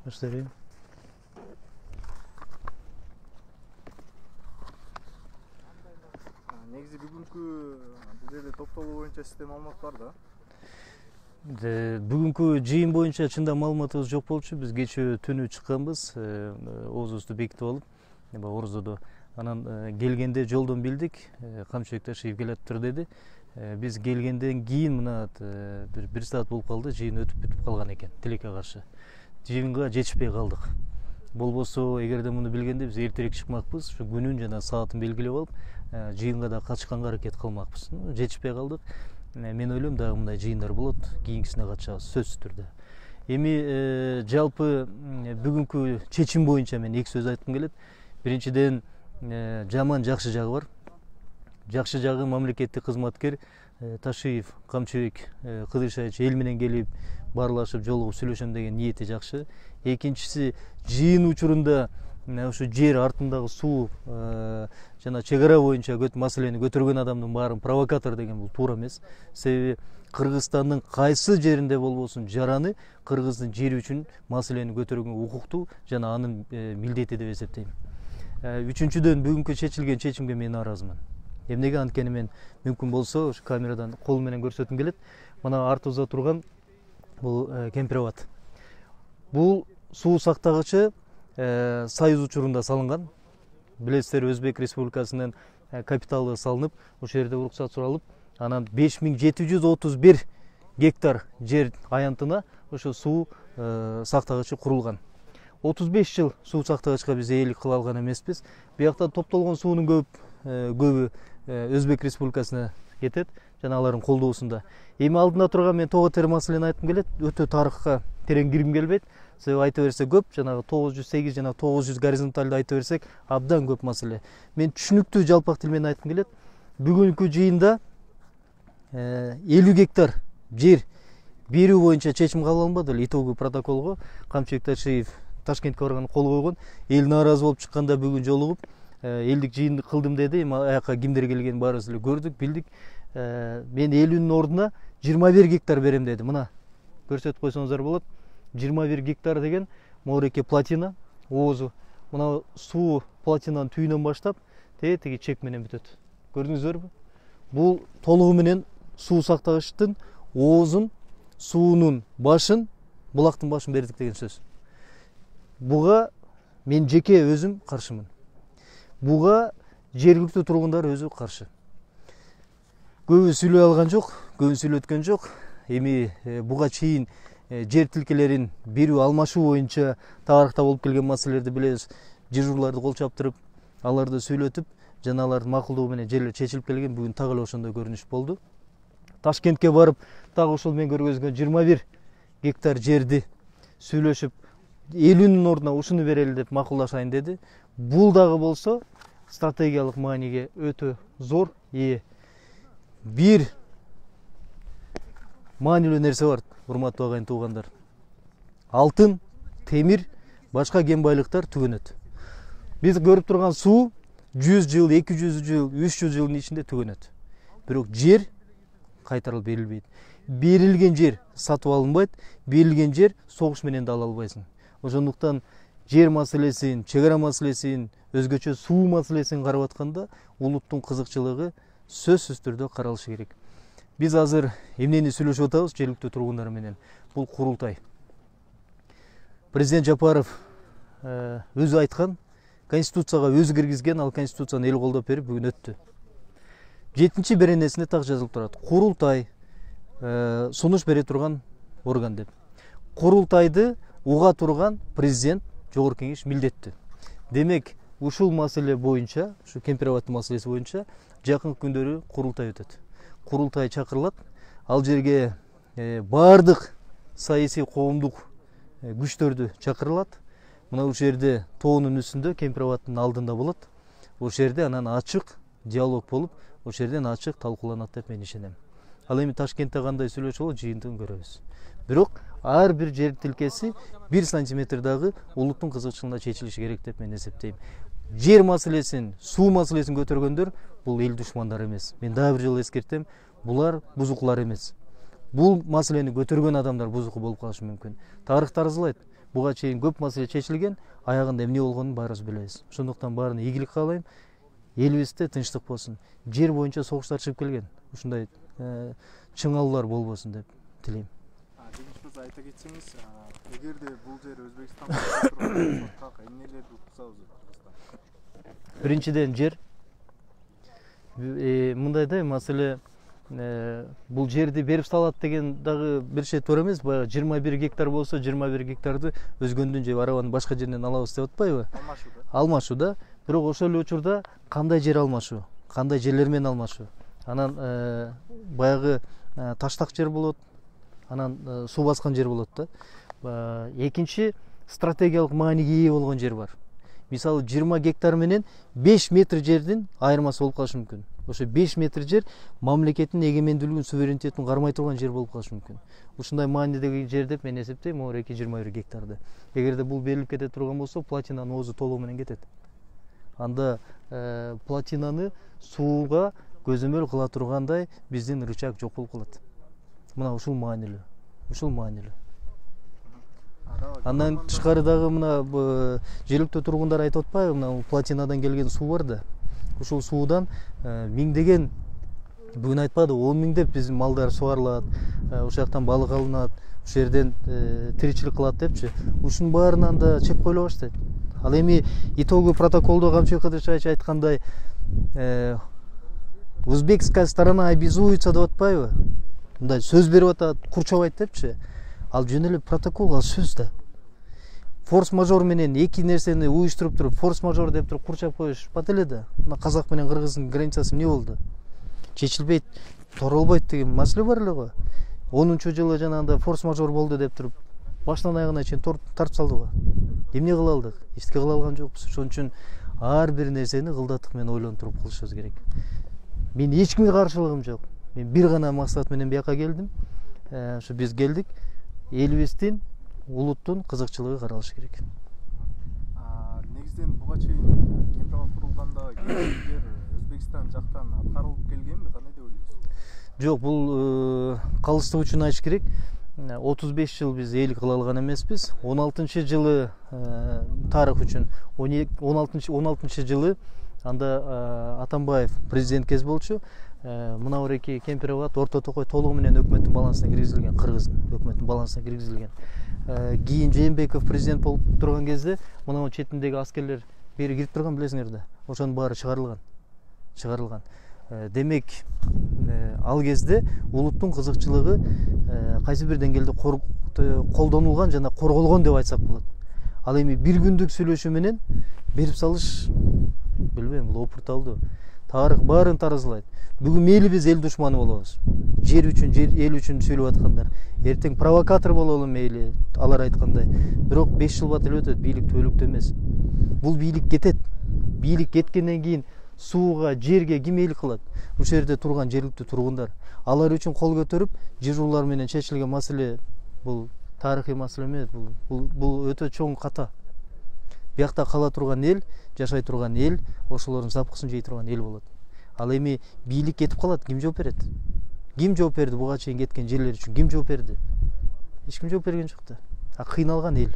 Баштайбы. Негизи бүгүнкү бул жерде топтолуу боюнча сизде маалымат бар да? Бүгүнкү жыйын боюнча чында маалыматыбыз жок болчу. Биз кечээ түнү чыкканбыз, оозубузду бекитип алып, Орзодо. Анан келгенде жолдон билдик, Камчыбек Ташиев келатыптыр деди. Биз келгенден кийин мына бир саат болуп калды, жыйын өтүп бүтүп калган экен, тилекке каршы. Жыйынга жетишпей калдык. Болбосо, эгерде муну билгенде биз эртерээк чыкмакпыз, ушу күнүн жана саатын белгилеп алып, жыйынга да катышканга аракет кылмакпыз. Жетишпей калдык. Мен ойлойм дагы мындай жыйындар болот, кийинкисине катышабыз сөзсүз түрдө. Эми жалпы бүгүнкү чечим боюнча мен эки сөз айткым келет. Биринчиден, жаман жакшы жагы бар. Жакшы жагы мамлекеттик кызматкер Ташиев Камчыбек Кыдыршевич эл менен келип баарлашып жолугуп сүйлөшөм деген ниети жакшы. Экинчиси, жыйын учурунда ушу жер артындагы суу жана чек ара боюнча маселени көтөргөн адамдын баарын провокатор деген бул туура эмес. Себеби Кыргызстандын кайсы жеринде болбосун жараны кыргыздын жери үчүн маселени көтөргөнгө укуктуу жана анын милдети деп эсептейм. Үчүнчүдөн, бүгүнкү чечилген чечимге мен нааразымын. Эмнеге анткени мен мүмкүн болсо ушу камерадан кол менен көрсөткүм келет. Мына артыбызда турган бул Кемпирабад. Бул суу сактагычы Союз учурунда салынган. Билесиздер, Өзбек Республикасынын капиталы салынып, ошол жерде уруксат суралып, анан 5731 гектар жер аянтына ошо суу сактагычы курулган. 35 жыл суу сактагычка биз ээлик кыла алган эмеспиз. Буякта топтолгон суунун көбү Өзбек Республикасына кетет жана алардын колдоосунда. Эми алдында турган мен тоо тери маселени айткым келет. Өтө тарыхка терең киргим келбейт. Себеби айта берсе көп, жанагы 908 жана 900 горизонталды айта берсек абдан көп маселе. Мен түшүнүктүү жалпак тил менен айткым келет. Бүгүнкү жыйында 50 гектар жер берүү боюнча чечим кабыл алынбады эле. Итоговый протоколго Камчыбек Ташиев Ташкентке барган кол койгон. Эл нааразы болуп чыкканда бүгүн жолугуп элдик жыйынды кылдым деди. Эми аяка кимдер келгенин баарыбыз эле көрдүк, билдик. Мен 50-нин ордуна 21 гектар берем деди. Мына көрсөтүп койсоңуздар болот. 21 гектар деген Мореке плотина оозу. Мына суу плотинанын түйүнөн баштап тиги чек менен бүтөт. Көрдүңүздөрбү? Бул толугу менен суу сактагычтын оозун, суунун башын, булактын башын бердик деген сөз. Буга мен жеке өзүм каршымын. Буга жергиликтүү тургундар өзү каршы. Көбү сүйлөй алган жок, көбү сүйлөткөн жок. Эми буга чейин жер тилкелерин берүү алмашуу боюнча тарыхта болуп келген маселелерди билебиз. Жыжурларды кол чаптырып, аларды сүйлөтүп, жана алардын макулдугу менен жерлер чечилип келген. Бүгүн так эле ошондой көрүнүш болду. Ташкентке барып, так ошол мен көргөзгөн 21 гектар жерди сүйлөшүп, 50-нин ордуна ушуну берели деп макулдашайын деди. Бул дагы болсо стратегиялык мааниге өтө зор ээ. Бир маанилүү нерсе бар, урматтуу агайын туугандар. Алтын, темир, башка кен байлыктар түгөнөт. Биз көрүп турган суу 100 жыл, 200 жыл, 300 жылдын ичинде түгөнөт. Бирок жер кайтарылып берилбейт. Берилген жер сатып алынбайт, берилген жер согуш менен да ала албайсың. Ошондуктан жер маселесин, чек ара маселесин, өзгөчө суу маселесин карап атканда улуттун кызыкчылыгы сөзсүз түрдө каралышы керек. Биз азыр эмнени сүйлөшүп атабыз жергиликтүү тургундар менен? Бул курултай. Президент Жапаров өзү айткан, Конституцияга өзү киргизген, ал Конституцияны эл колдоп берип бүгүн өттү. 7-чи беренесинде так жазылып турат. Курултай сунуш бере турган орган деп. Курултайды уга турган президент, жогорку кеңеш милдеттүү. Демек, ушул маселе боюнча, ушу Кемпирабадтын маселеси боюнча жакын күндөрү курултай өтөт. Курултай чакырылат. Ал жерге баардык саясий коомдук күчтөрдү чакырылат. Мына ушул жерде тоонун үстүндө Кемпирабадтын алдында болот. Ошол жерде анан ачык диалог болуп, ошол жерден ачык талкууланат деп мен ишенем. Ал эми Ташкентте кандай сүйлөшүү болот, жыйынтыгын көрөбүз. Бирок ар бир жер тилкеси 1 сантиметр дагы улуттун кызыкчылыгына чечилиши керек деп мен эсептейм. Жер маселесин, суу маселесин көтөргөндөр бул эл душмандары эмес. Мен дагы бир жолу эскертем, булар бузукулар эмес. Бул маселени көтөргөн адамдар бузуку болуп калышы мүмкүн. Тарых таразылайт. буга чейин көп маселе чечилген, аягында эмне болгонун баарыбыз билебиз. Ошондуктан баарына ийгилик каалайм. Элибизде тынчтык болсун. Жер боюнча согуштар чыгып келген. Ушундай чыңалуулар болбосун деп тилейм. Жеңиш айта кетсеңиз, эгерде бул жер Өзбекстанга турган болсо, эмнелерди уксабыз? Биринчиден жер. Мындай да маселе, бул жерди берип салат деген дагы бир şey туура эмес. Баягы 21 гектар болсо, 21 гектарды өзгөндүн же арабанын башка жеринен алабыз деп атпайбы? Алмашуу да. Бирок ошол эле учурда кандай жер алмашуу, кандай жерлер менен алмашуу. Анан баягы таштак жер болот, анан суу баскан жер болот да. Экинчи стратегиялык мааниге ээ болгон жер бар. Мисалы 20 гектар менен 5 метр жердин айырмасы болуп калышы мүмкүн. Ошо 5 метр жер мамлекеттин эгемендүүлүгүн, суверенитетин кармай турган жер болуп калышы мүмкүн. Ушундай маанидеги жер деп мен эсептейм, могуреки 21 гектарды. Эгерде бул берилип кете турган болсо, платинанын оозу толугу менен кетет. Анда платинаны сууга көзөмөл кыла тургандай биздин рычаг жок болуп калат. Мына ушул маанилүү. Ушул маанилүү. Андан тышкары дагы мына жергиликтүү тургундар айтып атпайбы, мына платинадан келген суу бар да. Ушул суудан миңдеген, бүгүн айтпады, 10 миңдеп биздин малдар сугарылат, ошол жактан балык алынат, ошол жерден тиричилик кылат депчи. Ушунун баарынан да чек коюла баштайт. Ал эми итоговый протоколдо Камчыбек Кадыршевич айткандай, узбекская сторона обязуется деп атпайбы? Мындай сөз берип атат, курчабайт депчи. Ал жөн эле протокол, ал сөз да. Форс-мажор менен эки нерсени уюштуруп туруп, форс-мажор деп туруп курчап коюш бат эле да. Мына Казак менен Кыргыздын границасы эмне болду? Чечилбейт, торолбойт деген маселе бар эле го. 10-жылы жанагындай форс-мажор болду деп туруп, башынан аягына чейин тартып салдыгы. Эмне кыла алдык? Эчтеке кыла алган жокпуз. Ошон үчүн ар бир нерсени кылдаттык менен ойлонуп туруп кылышыбыз керек. Мен эч кимге каршылыгым жок. Мен бир гана максат менен бияка келдим. Ошо биз келдик. Элибиздин, улуттун кызыкчылыгы каралышы керек. Негизден буга чейин Кемпирабад курулганда келишимдер Өзбекстан жактан аткарылып келгенби? Кандай деп ойлойсуз? Жок, бул калыстык үчүн айтыш керек. 35 жыл биз элик кыла алган эмеспиз. 16-жылы тарых үчүн 16 жылы анда Атамбаев президент кез болчу. Мына ореки Кемпирабад Орто Токой толугу менен өкмөттүн балансына киргизилген, Кыргыздын өкмөттүн балансына киргизилген. Кийин Жээнбеков президент болуп турган кезде мына четиндеги аскерлер бери кирип турган, билесиңер да. Ошонун баары чыгарылган. Демек, ал кезде улуттун кызыкчылыгы кайсы бир деңгээлде колдонулган жана корголгон деп айтсак болот. Ал эми бир күндүк сүйлөшүү менен берип салыш, билбейм, бул опурталдуу. Тарых баарын таразылайт. Бүгүн мейли биз эл душманы болобуз. Жер үчүн, эл үчүн сүйлөп аткандар. Эртең провокатор бололу мейли, алар айткандай. Бирок 5 жыл батып өтөт, бийлик түбөлүктүү эмес. Бул бийлик кетет. Бийлик кеткенден кийин сууга, жерге ким эйлик кылат? Ушул жерде турган жергиликтүү тургундар. Алар үчүн кол көтөрүп, жыруулар менен чечилген маселе бул тарыхый маселе эмес, бул өтө чоң ката. Биякта кала турган эл, жашай турган эл, ошолордун запкысын жей турган эл болот. Ал эми бийлик кетип калат, ким жооп берет? Ким жооп берди буга чейин кеткен жерлер үчүн? Ким жооп берди? Эч ким жооп берген жок да. Кыйналган эл.